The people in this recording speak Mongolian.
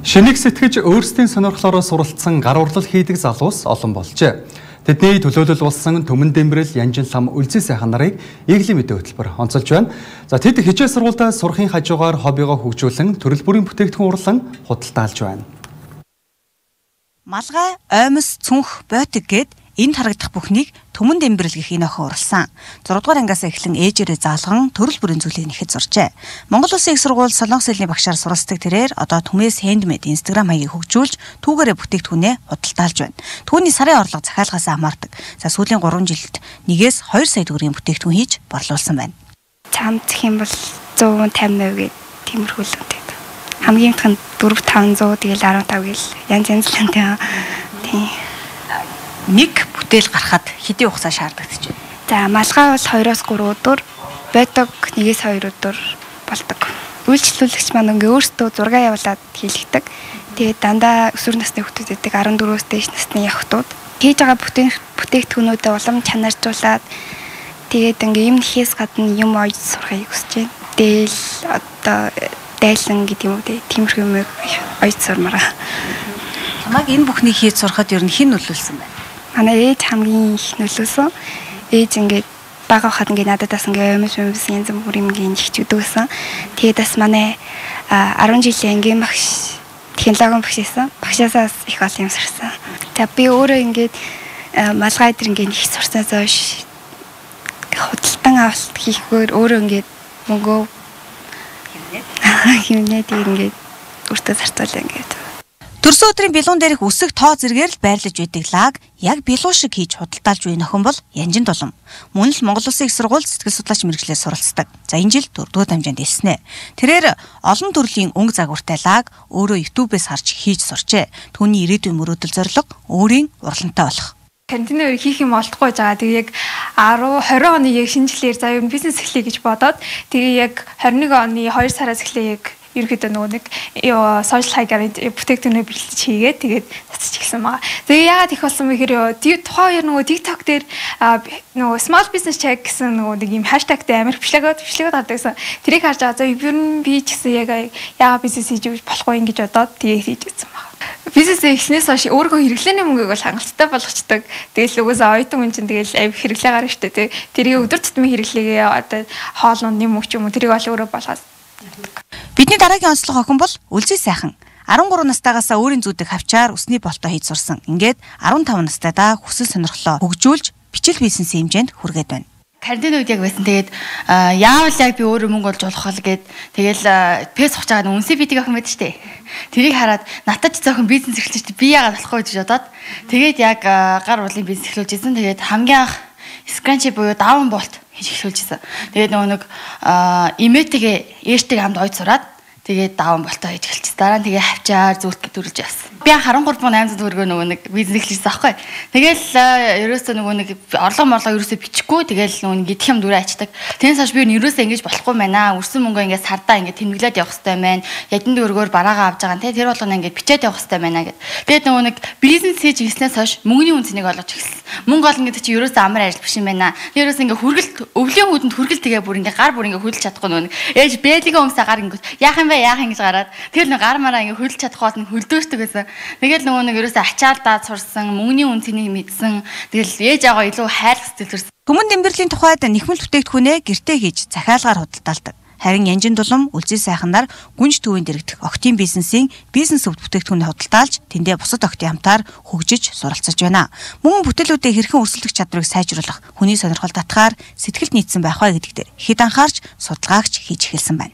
Шинийг сэтгэж өөрсдийн сонирхлоороо суралцсан гар урлал хийдэг залуус олон болжээ. Тэдний төлөөлөл болсон Төмөн Дэмбэрэл Янжин лам Үлзий сайхан нарыг Иглийн мэдээ хөтөлбөр онцолж байна. За тэд хичээл сургуультай сурахын хажуугаар хоббигоо хөгжүүлэн төрөл бүрийн бүтээгдэхүүн урлан худалдаалж байна. Малгай, оймос, цүнх, бойтог гэд энд харагдах бүхнийг Төмөн Дэмбэрэл гэх энэ охин уралсан. 6 дугаар ангиас эхлэн ээжээрээ заалган төрөл бүрийн зүйлийг нэхэд сурчээ. Монгол Улсын их сургууль Солонгос хэлний багшаар суралцдаг тэрээр одоо Түмээс Handmade Instagram хаягийг хөгжүүлж түүгээрээ бүтээгдэхүүнээ худалдаалж байна. Түүний сарын орлого захиалгаас хамаардаг. За сүүлийн 3 жилд 1-2 сая төгрөгийн бүтээгдэхүүн хийж борлуулсан байна. Цамцх юм бол 150% гээд тиймэрхүү л үнэтэй. Хамгийн их нь 4-500 тэгэл 15 гэл янз янзлантай. Тийм. Нэг бүтээл гарахад хэдийн хугацаа шаардлагатай ч байна. За малгай бол 2-3 өдөр, бойтог 1-2 өдөр болдог. Үйлчлүүлэгч маань ингээ өөртөө зураг явуулаад хийлгдэг. Тэгээд дандаа өсвөр насны хүүхдүүд эдэг 14-өөс дээш насны явхдууд хийж байгаа бүтээгдэхүүнүүдэд улам чанаржуулаад тэгээд ингээ юм нэхээс гадна юм ойж сурахыг хүсэж байна. Дээл одоо дайлан гэдэг юм уу тиймэрхүү юм ойж сурмараа. Чамайг энэ бүхнийг хийж сурахад ер нь хэн нөлөөлсөн бэ? Манай ээж хамгийн их нөлөөсөн. Ээж ингээд бага хахад ингээд нададаас ингээд өмс янз бүрийн ингээд ихчүүд өгсөн. Тэгээд бас манай 10 жилийн ангийн багш технологийн багш байсан. Багшаасаас их олон юм сурсан. За би өөрөө ингээд малгай дээр ингээд их сурсанаас хойш худалдан авалт хийхгээр өөрөө ингээд мөнгөө хэмнээд ингээд өөртөө зарцуулаа ингээд. Төрсөн өдрийн билуун дээрх үсэг тоо зэргээр л байрлаж байдаг лаг яг билуу шиг хийж худалдаалж буй охин бол Янжин Дулам. Мөн л Монгол Улсын их сургууль сэтгэл судлаач мэргэжлээр суралцдаг. За энэ жил 4-р дамжаанд элснэ. Тэрээр олон төрлийн өнгө загвартай лаг өөрөө YouTube-ээс харж хийж сурчээ. Түүний ирээдүйн мөрөөдөл зорилго өөрийн урлантай болох. Карантины үеэр хийх юм олдохгүй байгаа. Тэгээ яг 10-20 оны яг шинжилгээр за юу бизнес эхлэе гэж бодоод тэгээ яг 21 оны 2 сараас эхлэе яг ерөөдөө нөгөө нэг social high-аар бүтээгдэхүүнээ бэлтэж хийгээд тэгээд цацж эхэлсэн байгаа. Тэгээ яагаад их болсон бэ гэхээр тухайн үеэр нөгөө TikTok дээр нөгөө small business check гэсэн нөгөө нэг юм хаштагтай амар бичлэгүүд гардаг гэсэн. Тэрийг харж байгаа. За ер нь би ч гэсэн яг яагаад бизнес хийж өгч болохгүй юм гэж бодоод тэгээд хийж үзсэн байна. Бизнес эхлснээс хойш өөрөө хэрэглээний мөнгөийг бол хангалттай болгочдөг. Тэгэл угаасаа оюутан хүн чинь тэгэл авь хэрэглээ гарна шүү дээ. Тэрийг өдөр тутмын хэрэглээгээ одоо хоолны мөнгө ч юм уу тэрийг бол өөрөө болгоод. Бидний дараагийн онцлог охин бол Үлзий сайхан. 13 настайгаас өөрийн зүүдэг хавчаар усны болтоо хийж сурсан. Ингээд 15 настайдаа хүсэл сонирхлоо хөгжүүлж бичил бизнесийн хэмжээнд хүргээд байна. Карантин үед яг байсан. Тэгээд яавал яг би өөрөө мөнгө олж болох вэ гэд тэгэл пэс хугаж байгаа үнсээ битиг охин байдаг штэ. Тэрийг хараад натач зөөхөн бизнес эхэлж штэ би яагаад болохгүй гэж бодоод тэгээд яг гар урлын бизнес эхлүүлж ирсэн. Тэгээд хамгийн анх скранчи буюу даун болт хийж эхлүүлжсэн. Тэгээд нөгөө нэг имэтэйгээ ээжтэйгээ хамт ойд сураад тэгээд даун болтоо хийж эхэлчихсэн. Дараа нь тэгээ хавчаар зүлт төрүүлж явсан. Би 13,800 төгрөгөө нөгөө нэг бизнес эхлэжсэн аахгүй. Тэгээл ерөөсөө нөгөө нэг орлого ерөөсөө бичихгүй тэгээл нөгөө нэг идэх юм дүрээ ачдаг. Тэрнээс хойш би ерөөсөө ингэж болохгүй байна. Өрсөн мөнгөө ингэж сардаа ингэ тэмдэглээд явах хэрэгтэй байна. Ядын дөргөөр бараагаа авч байгаа. Тэр болгоно ингэ бичээд явах хэрэгтэй байна гэд. Тэгээд нөгөө нэг бизнес хийж ирснээс хойш мөнгөний үнцнийг олгож эхэлсэн. Мөнгө олно гэдэг чинь ерөөсөө амар ажил биш юм байна. Ерөөсөө ингэ хүргэлт өвлийн хүүдэнд хүргэлт тэгээ бүр ингэ гар бүр ингэ хөдөлж чадахгүй нөгөө нэг ээж бэлгийн өмсө гар ингэ яах юм бэ гэж гараад тэгэл нэг гар мараа ингэ хөдөлж чадахгүй бол хөлдөөшдөг байсан. Тэгэл нөгөө нэг ерөөсөө ачаалдаад сурсан, мөнгөний үнцнийг мэдсэн. Тэгэл ээж аваа илүү хайрлах сэтгэл төрсэн. Төмөн Дэмбэрэлийн тухайд нэхмэл бүтээгдэхүүнээ гэртээ хийж захиалгаар худалдаалдаг. Харин Янжин Дулам Үлзий сайхан нар гүнж төвийн дэрэгдэх октийн бизнесийн бизнес өвд бүтээгдэхүүнээ худалдаалж тэндээ бусад октийн хамтаар хөгжиж суралцаж байна. Мөн бүтээлүүдээ хэрхэн өрсөлдөх чадварыг сайжруулах, хүний сонирхол татгаар сэтгэлд нийцсэн байх вэ гэдэгт хэд анхаарч судалгаагч хийж эхэлсэн байна.